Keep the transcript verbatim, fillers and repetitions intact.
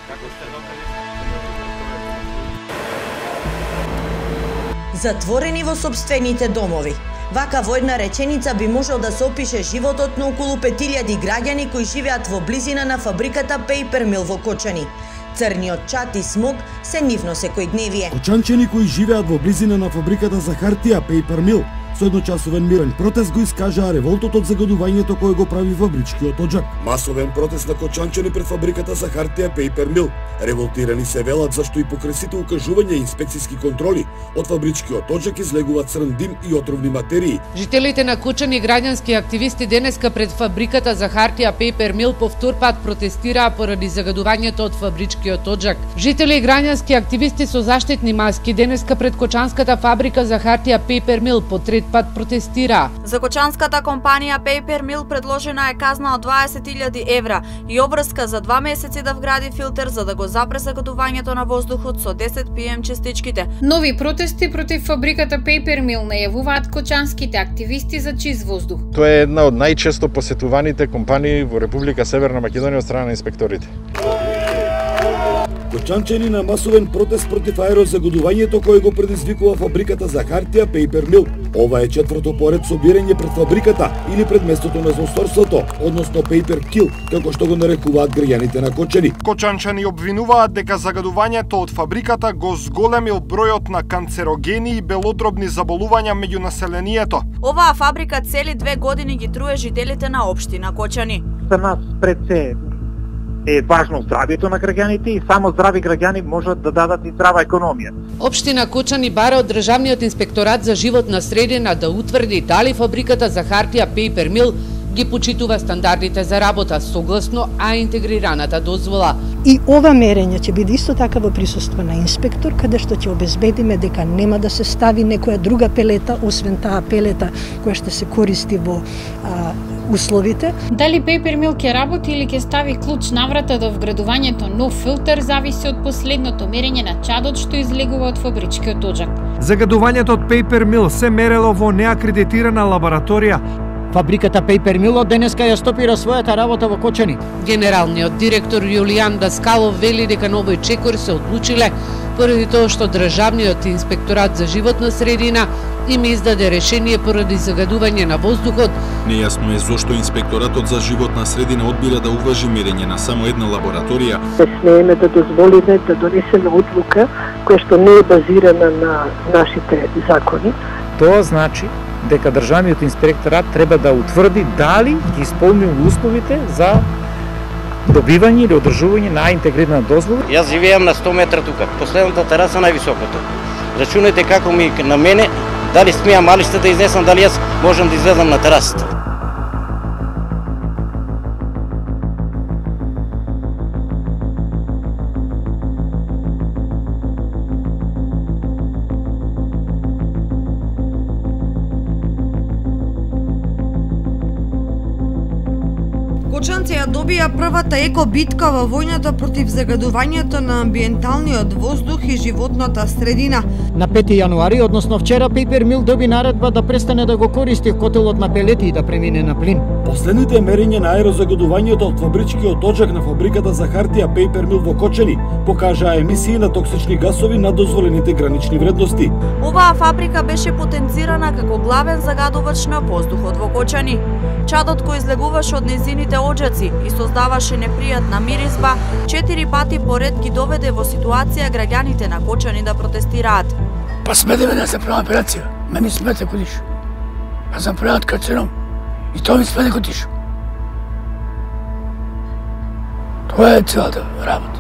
Како сте докаде? Затворени во сопствените домови. Вака во една реченица би можел да се опише животот на околу пет илјади граѓани кои живеат во близина на фабриката Paper Mill во Кочани. Црниот чад и смог се нивно секојдневие. Кочанчани кои живеат во близина на фабриката за хартија Paper Mill со едночасовен мирен протест го искажаа револтот од загадувањето кое го прави фабричкиот оџак. Масовен протест на кочанчани пред фабриката за хартија Paper Mill. Револтирани се велат зашто и покрај сите укажувања и инспекциски контроли од фабричкиот оџак излегува црн дим и отровни материи. Жителите на Кочани и граѓански активисти денеска пред фабриката за хартија Paper Mill повтор пат протестираа поради загадувањето од фабричкиот оџак. Жители и граѓански активисти со заштитни маски денеска пред кочанската фабрика за хартија Paper Mill по трет пат протестираа. За кочанската компанија Paper Mill предложена е казна од дваесет илјади евра и обврска за два месеци да вгради филтер за да го запре загадувањето на воздухот со десет пи ем честичките. Нови протести против фабриката Paper Mill најавуваат кочанските активисти за чист воздух. Тоа е една од најчесто посетуваните компании во Република Северна Македонија од страна на инспекторите. Кочанчани на масовен протест против аерозагадувањето кое го предизвикува фабриката за хартија Paper Mill. Ова е четврто поред собирање пред фабриката или пред местото на злосторството, односно Paper Kill, како што го нарекуваат граѓаните на Кочани. Кочанчани обвинуваат дека загадувањето од фабриката го зголемил бројот на канцерогени и белодробни заболувања меѓу населението. Оваа фабрика цели две години ги труе жителите на општина Кочани. За нас пред се е важно здравјето на граѓаните и само здрави граѓани можат да дадат и здрава економија. Општина Кочани бара од Државниот инспекторат за животна средина да утврди дали фабриката за хартија Paper Mill ги почитува стандардите за работа согласно а интегрираната дозвола. И ова мерење ќе биде исто така во присуство на инспектор, каде што ќе обезбедиме дека нема да се стави некоја друга пелета, освен таа пелета која ще се користи во а, условите. Дали Paper Mill ќе работи или ќе стави клуч на врата до вградувањето нов филтер зависи од последното мерење на чадот што излегува од фабричкиот оџак. Загадувањето од Paper Mill се мерело во неакредитирана лабораторија. Фабриката Paper Mill од денеска ја стопира својата работа во Кочани. Генералниот директор Јулијан Даскалов вели дека на овој чекор се одлучиле поради тоа што Државниот инспекторат за животна средина им издаде решение поради загадување на воздухот. Нејасно е зошто инспекторатот за животна средина одбира да уважи мерење на само една лабораторија. Не смееме да дозволиме да донесеме одлука која што не е базирана на нашите закони. Тоа значи дека Државниот инспекторат треба да утврди дали ги исполнува условите за добивање или одржување на интегрирана дозвола. Јас живеам на сто метра тука, последната тераса највисокото. Рачунете како ми на мене, дали смеам малиште да изнесам, дали јас можам да излезам на терасата. Кочанци ја добија првата еко битка во војната против загадувањето на амбиенталниот воздух и животната средина. На пети јануари, односно вчера, Paper Mill доби наредба да престане да го користи котелот на пелети и да премине на плин. Последните мерења на аерозагадувањето од фабричкиот оџак на фабриката за хартија Paper Mill во Кочани покажаа емисии на токсични гасови над дозволените гранични вредности. Оваа фабрика беше потенцирана како главен загадувач на воздухот во Кочани. Чадот кој излегуваше од незините оџаци и создаваше непријатна миризба, четири пати поред ги доведе во ситуација граѓаните на Кочани да протестираат. Па смете ме да се правам операција, мене смете кодиш. Аз сам прават карцином и тоа ми смете кодиш. Тоа е целата работа.